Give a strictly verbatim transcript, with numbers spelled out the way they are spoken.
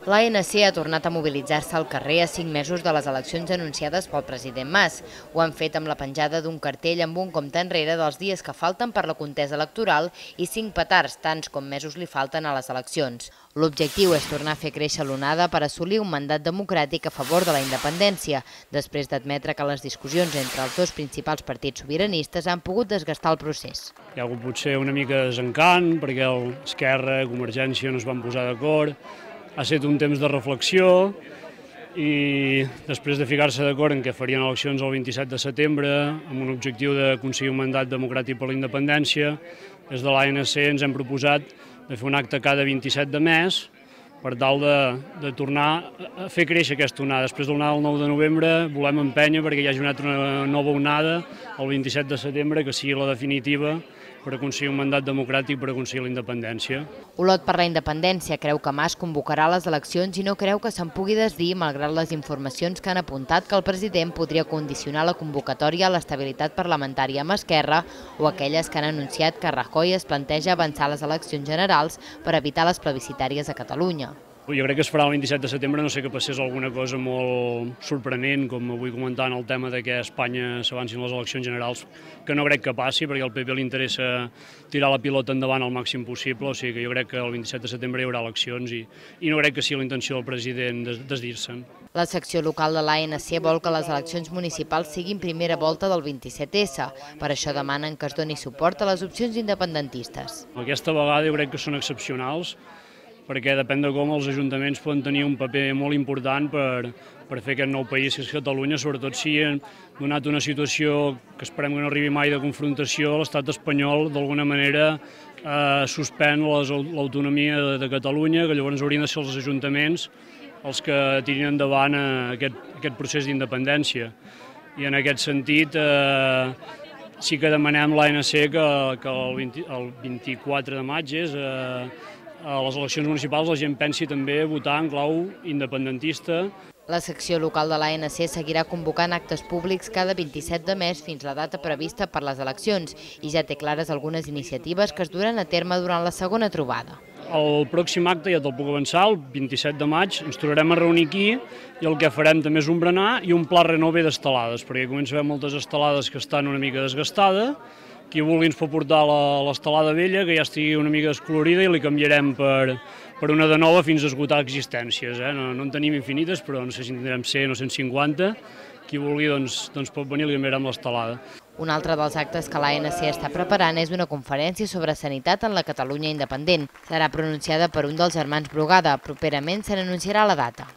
L'A N C ha tornat a mobilitzar-se al carrer a cinc mesos de les eleccions anunciades pel president Mas. Ho han fet amb la penjada d'un cartell amb un compte enrere dels dies que falten per la contesa electoral i cinc petards, tants com mesos li falten a les eleccions. L'objectiu és tornar a fer créixer l'onada per assolir un mandat democràtic a favor de la independència, després d'admetre que les discussions entre els dos principals partits sobiranistes han pogut desgastar el procés. Hi ha hagut potser una mica de desencant perquè Esquerra i Convergència no es van posar d'acord. Ha estat un temps de reflexió i després de ficar-se d'acord en què farien eleccions el vint-i-set de setembre amb un objectiu d'aconseguir un mandat democràtic per la independència, des de l'A N C ens hem proposat de fer un acte cada vint-i-set de mes per tal de, de tornar a fer créixer aquesta onada. Després de l'onada del nou de novembre volem empènyer perquè hi hagi una nova onada el vint-i-set de setembre que sigui la definitiva per aconseguir un mandat democràtic per aconseguir la independència. Olot per la Independència creu que Mas convocarà les eleccions i no creu que se'n pugui desdir malgrat les informacions que han apuntat que el president podria condicionar la convocatòria a l'estabilitat parlamentària amb Esquerra o aquelles que han anunciat que Rajoy es planteja avançar les eleccions generals per evitar les plebiscitàries a Catalunya. Jo crec que es farà el vint-i-set de setembre, no sé que passés alguna cosa molt sorprenent, com avui comentant el tema de que a Espanya s'avancin les eleccions generals, que no crec que passi, perquè al P P li interessa tirar la pilota endavant al màxim possible, o sigui que jo crec que el vint-i-set de setembre hi haurà eleccions i, i no crec que sigui la intenció del president desdir-se'n. La secció local de l'A N C vol que les eleccions municipals siguin primera volta del vint-i-set essa, per això demanen que es doni suport a les opcions independentistes. Aquesta vegada jo crec que són excepcionals, perquè depèn de com els ajuntaments poden tenir un paper molt important per, per fer aquest nou país que és Catalunya, sobretot si han donat una situació que esperem que no arribi mai de confrontació, l'estat espanyol d'alguna manera eh, suspèn l'autonomia de, de Catalunya, que llavors haurien de ser els ajuntaments els que tirin endavant aquest, aquest procés d'independència. I en aquest sentit eh, sí que demanem l'A N C que, que el, vint, el vint-i-quatre de maig és eh, a les eleccions municipals la gent pensi també votar en clau independentista. La secció local de l'A N C seguirà convocant actes públics cada vint-i-set de mes fins la data prevista per les eleccions i ja té clares algunes iniciatives que es duran a terme durant la segona trobada. El pròxim acte, ja te'l puc avançar, el vint-i-set de maig ens tornarem a reunir aquí i el que farem també és un berenar i un pla renove d'estelades, perquè comença a haver moltes estelades que estan una mica desgastades. Qui vulgui ens pot portar l'estelada vella, que ja estigui una mica descolorida, i li canviarem per, per una de nova fins a esgotar existències. Eh? No, no en tenim infinites, però no sé si en tindrem cent o cent cinquanta. Qui vulgui doncs, doncs pot venir i li canviarem l'estelada. Un altre dels actes que l'A N C està preparant és una conferència sobre sanitat en la Catalunya independent. Serà pronunciada per un dels germans Brugada. Properament se n'anunciarà la data.